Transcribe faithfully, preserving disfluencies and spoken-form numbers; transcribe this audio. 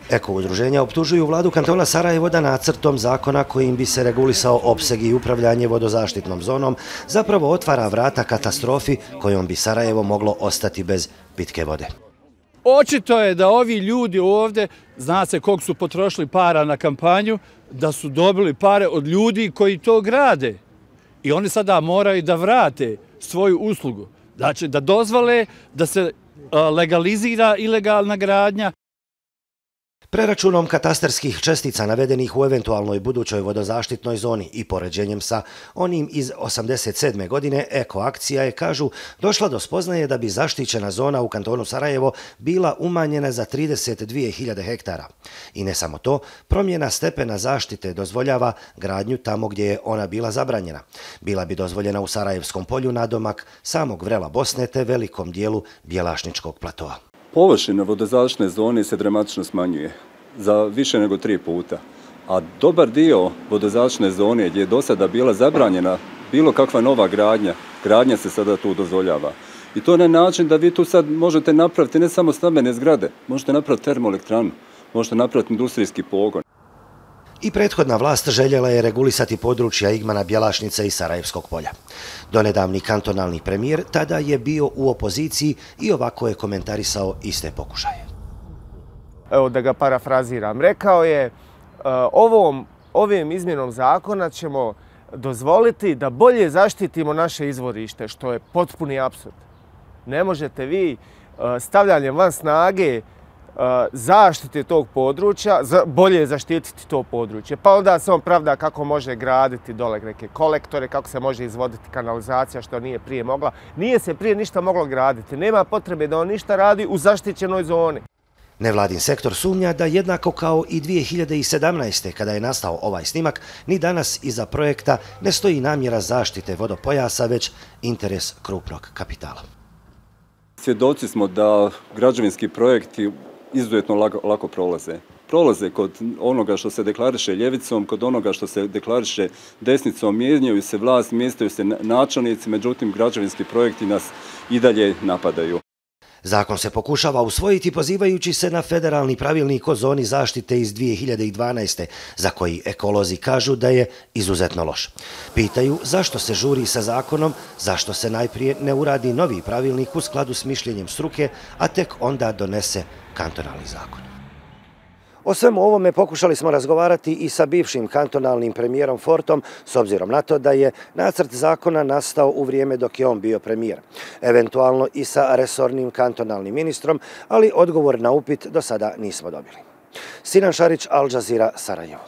Eko-udruženja optužuju vladu kantona Sarajevo da nacrtom zakona kojim bi se regulisao opseg i upravljanje vodozaštitnom zonom zapravo otvara vrata katastrofi kojom bi Sarajevo moglo ostati bez pitke vode. Očito je da ovi ljudi ovdje, zna se koliko su potrošili para na kampanju, da su dobili pare od ljudi koji to grade. I oni sada moraju da vrate svoju uslugu. Znači da dozvole da se legalizira ilegalna gradnja. Preračunom katastarskih čestica navedenih u eventualnoj budućoj vodozaštitnoj zoni i poređenjem sa onim iz osamdeset sedme godine, Eko-akcija je, kažu, došla do spoznaje da bi zaštićena zona u kantonu Sarajevo bila umanjena za trideset dvije hiljade hektara. I ne samo to, promjena stepena zaštite dozvoljava gradnju tamo gdje je ona bila zabranjena. Bila bi dozvoljena u Sarajevskom polju nadomak samog vrela Bosne te velikom dijelu Bjelašničkog platoa. Površina vodozaštitne zone se dramatično smanjuje za više nego tri puta, a dobar dio vodozaštitne zone gdje je do sada bila zabranjena bilo kakva nova gradnja, gradnja se sada tu dozvoljava. I to na način da vi tu sad možete napraviti ne samo stambene zgrade, možete napraviti termoelektranu, možete napraviti industrijski pogon. I prethodna vlast željela je regulisati područja Igmana, Bjelašnice i Sarajevskog polja. Donedavni kantonalni premijer tada je bio u opoziciji i ovako je komentarisao iste pokušaje. Evo da ga parafraziram. Rekao je, ovom, ovim izmjenom zakona ćemo dozvoliti da bolje zaštitimo naše izvorište, što je potpuni apsurd. Ne možete vi stavljanjem van snage zaštite tog područja, bolje zaštititi to područje. Pa onda se on pravda kako može graditi dole neke kolektore, kako se može izvoditi kanalizacija što nije prije mogla. Nije se prije ništa moglo graditi. Nema potrebe da on ništa radi u zaštićenoj zoni. Nevladin sektor sumnja da jednako kao i dvije hiljade sedamnaeste. kada je nastao ovaj snimak, ni danas iza projekta ne stoji namjera zaštite vodopojasa, već interes krupnog kapitala. Svjedoci smo da građevinski projekti izuzetno lako, lako prolaze. Prolaze kod onoga što se deklariše ljevicom, kod onoga što se deklariše desnicom, mijenjaju se vlast, mjestaju se načelnici, međutim građevinski projekti nas i dalje napadaju. Zakon se pokušava usvojiti pozivajući se na federalni pravilnik o zoni zaštite iz dvije hiljade dvanaeste. za koji ekolozi kažu da je izuzetno loš. Pitaju zašto se žuri sa zakonom, zašto se najprije ne uradi novi pravilnik u skladu s mišljenjem struke, a tek onda donese kantonalni zakon. O svemu ovome pokušali smo razgovarati i sa bivšim kantonalnim premijerom Fortom, s obzirom na to da je nacrt zakona nastao u vrijeme dok je on bio premijer. Eventualno i sa resornim kantonalnim ministrom, ali odgovor na upit do sada nismo dobili. Sinan Šarić, Al Jazeera, Sarajevo.